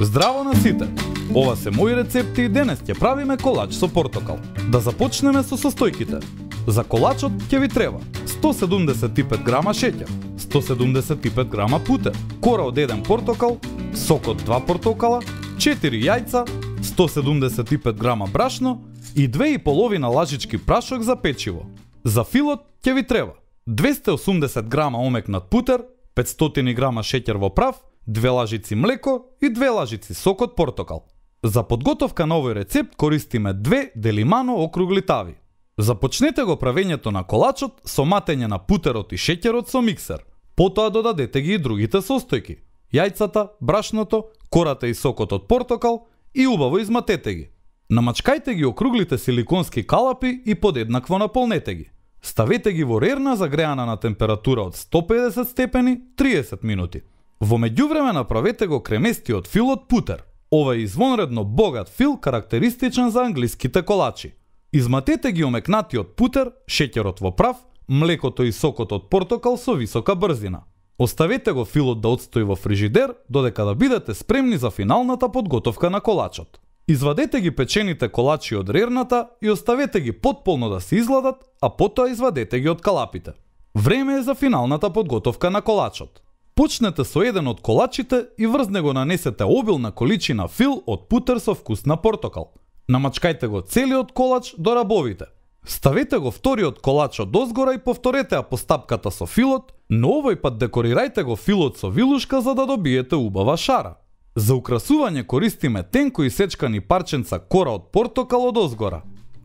Здраво на сите! Ова се мои рецепти и денес ќе правиме колач со портокал. Да започнеме со состојките. За колачот ќе ви треба 175 грама шеќер, 175 грама путер, кора од 1 портокал, сок од 2 портокала, 4 јајца, 175 грама брашно и 2,5 лажички прашок за печиво. За филот ќе ви треба 280 грама омекнат путер, 500 грама шеќер во прав, 2 лажици млеко и 2 лажици сок од портокал. За подготовка на овој рецепт користиме 2 делимано округли тави. Започнете го правењето на колачот со матење на путерот и шеќерот со миксер. Потоа додадете ги и другите состојки: јајцата, брашното, кората и сокот од портокал и убаво изматете ги. Намачкајте ги округлите силиконски калапи и подеднакво наполнете ги. Ставете ги во рерна загреана на температура од 150 степени 30 минути. Во меѓувреме направете го креместиот фил од путер. Ова е извонредно богат фил карактеристичен за англиските колачи. Изматете ги омекнатиот путер, шеќерот во прав, млекото и сокот од портокал со висока брзина. Оставете го филот да отстои во фрижидер додека да бидете спремни за финалната подготовка на колачот. Извадете ги печените колачи од рерната и оставете ги потполно да се изгладат, а потоа извадете ги од калапите. Време е за финалната подготовка на колачот. Почнете со еден од колачите и врз него нанесете обилна количина фил од путер со вкус на портокал. Намачкајте го целиот колач до рабовите. Ставете го вториот колач од озгора и повторете ја постапката со филот, но овој пат декорирајте го филот со вилушка за да добиете убава шара. За украсување користиме тенко исечкани парченца кора од портокал од озгора.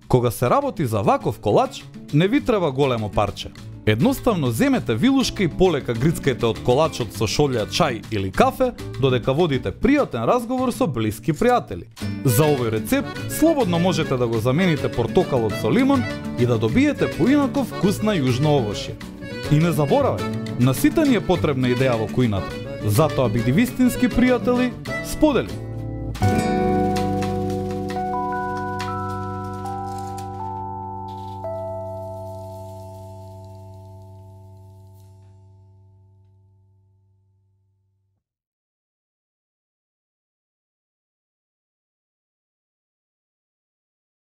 Кога се работи за ваков колач, не ви треба големо парче. Едноставно земете вилушка и полека грицкајте од колачот со шолја чај или кафе, додека водите пријатен разговор со блиски пријатели. За овој рецепт слободно можете да го замените портокалот со лимон и да добиете поинаков вкус на јужно овошје. И не заборавај, на сите ни е потребна идеја во кујната. Затоа биди вистински пријатели, сподели!